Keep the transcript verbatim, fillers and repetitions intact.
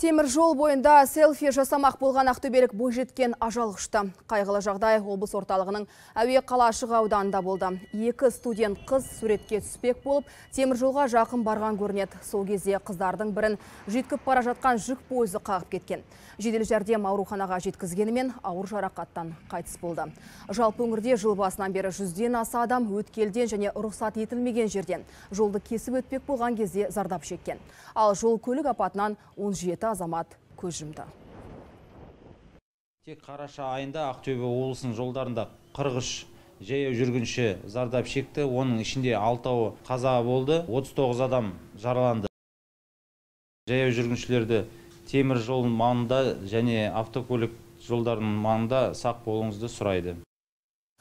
Темір жол бойында селфи жасамақ болған ақтөбелік бойжеткен ажал құшты. Қайғылы жағдай облыс орталығының әуе қалашығы ауданында болды. Екі студент қыз суретке түспек болып, темір жолға жақын барған көрінеді. Сол кезде қыздардың бірін жүйткіп бара жатқан жүк пойызы қағып кеткен. Жедел жәрдем ауруханаға жеткізгенімен ауыр жарақаттан қайтыс болды. Жалпы өңірде жыл басынан бері жүзден аса адам өткелден және рұқсат етілмеген жерден жолды кесіп өтпек болған кезде зардап шеккен. Ал жол көлік апатынан он жеті азамат көз жұмды. Тек қараша айында Ақтөбе облысының жолдарында қырық үш жаяу жүргінші зардап шекті. Оның ішінде алтауы қаза болды, отыз тоғыз адам жараланды. Жаяу жүргіншілерді темір жолының маңында және автокөлік жолдарының маңында сақ болуыңызды сұрайды.